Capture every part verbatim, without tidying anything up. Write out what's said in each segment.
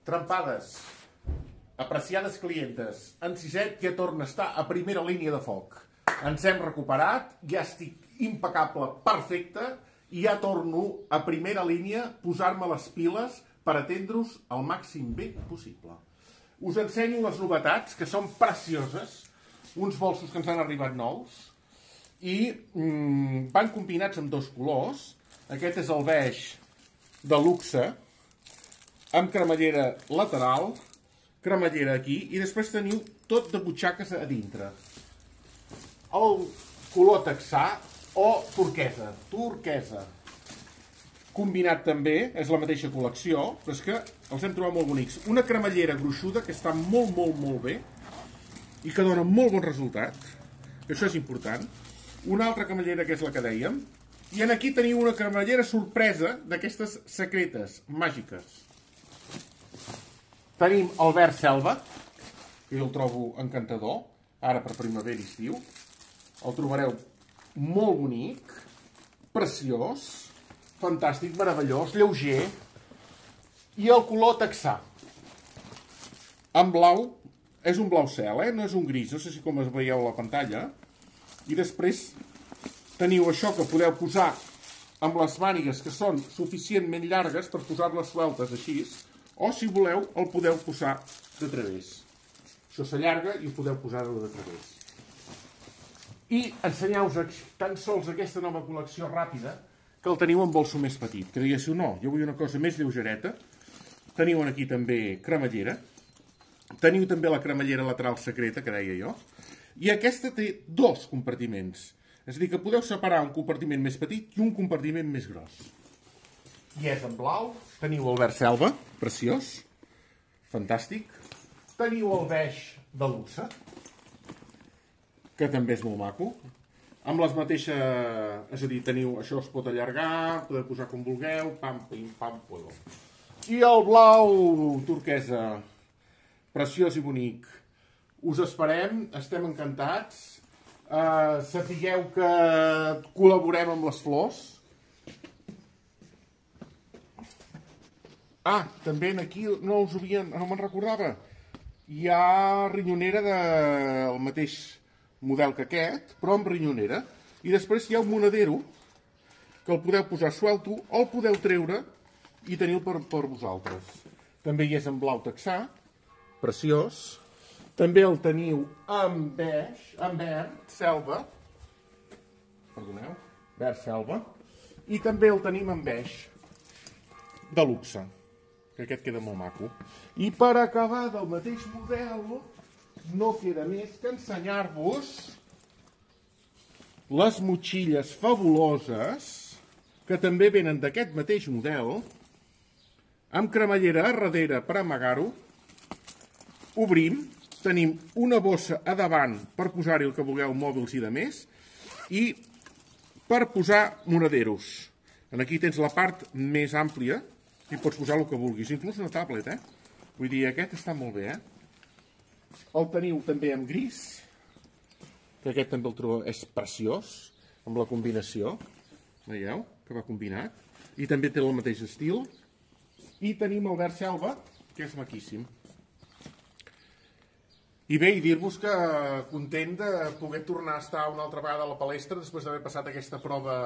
Trempades, apreciades clientes, en Siset ja torna a estar a primera línia de foc. Ens hem recuperat, ja estic impecable, perfecte, i ja torno a primera línia posar-me les piles per atendre-us al màxim bé possible. Us ensenyo les novetats, que són precioses, uns bolsos que ens han arribat nous, i mm, van combinats amb dos colors. Aquest és el beix de luxe, amb cremallera lateral, cremallera aquí, i després teniu tot de butxaques a dintre. El color texà o turquesa, turquesa. Combinat també, és la mateixa col·lecció, però és que els hem trobat molt bonics. Una cremallera gruixuda que està molt, molt, molt bé i que dona molt bon resultat, que això és important. Una altra cremallera que és la que dèiem. I en aquí teniu una cremallera sorpresa d'aquestes secretes, màgiques. Tenim el verd selva, que jo el trobo encantador, ara per primavera i estiu. El trobareu molt bonic, preciós, fantàstic, meravellós, lleuger. I el color texà. En blau, és un blau cel, eh? No és un gris, no sé si com es veieu a la pantalla. I després teniu això que podeu posar amb les mànigues que són suficientment llargues per posar-les sueltes així, o si voleu el podeu posar de través. Això s'allarga i ho podeu posar de través. I ensenyeu-vos tan sols aquesta nova col·lecció ràpida que el teniu en bolso més petit. Que diguéssiu, no, jo vull una cosa més lleugereta. Teniu aquí també cremallera. Teniu també la cremallera lateral secreta, que deia jo. I aquesta té dos compartiments. És a dir, que podeu separar un compartiment més petit i un compartiment més gros. I és en blau. Teniu el verd selva, preciós, fantàstic. Teniu el beix de luxe, que també és molt maco. Amb les mateixes, és a dir, teniu, això es pot allargar, podeu posar com vulgueu, pam, pim, pam, puedo. I el blau turquesa, preciós i bonic. Us esperem, estem encantats. Uh, sapigueu que col·laborem amb les flors. Ah, també aquí no us havia, no me'n recordava. Hi ha rinyonera del mateix model que aquest, però amb rinyonera. I després hi ha un monedero que el podeu posar suelto o el podeu treure i teniu per, per vosaltres. També hi és en blau texà, preciós. També el teniu en beix, en verd, selva. Perdoneu, verd selva. I també el tenim en beix de luxe, que aquest queda molt maco. I per acabar del mateix model, no queda més que ensenyar-vos les motxilles fabuloses, que també venen d'aquest mateix model, amb cremallera a darrere per amagar-ho. Obrim. Tenim una bossa a davant per posar-hi el que vulgueu, mòbils i de més, i per posar monederos. Aquí tens la part més àmplia i pots posar el que vulguis, inclús una tablet, eh? Vull dir, aquest està molt bé, eh? El teniu també en gris, que aquest també el trobo, és preciós, amb la combinació, veieu, que va combinat, i també té el mateix estil, i tenim el verd selva, que és maquíssim. I bé, i dir-vos que content de poder tornar a estar una altra vegada a la palestra després d'haver passat aquesta prova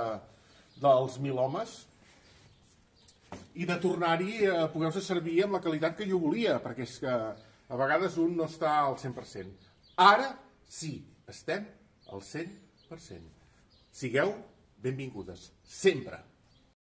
dels mil homes i de tornar-hi a poder-vos servir amb la qualitat que jo volia, perquè és que a vegades un no està al cent per cent. Ara sí, estem al cent per cent. Sigueu benvingudes, sempre.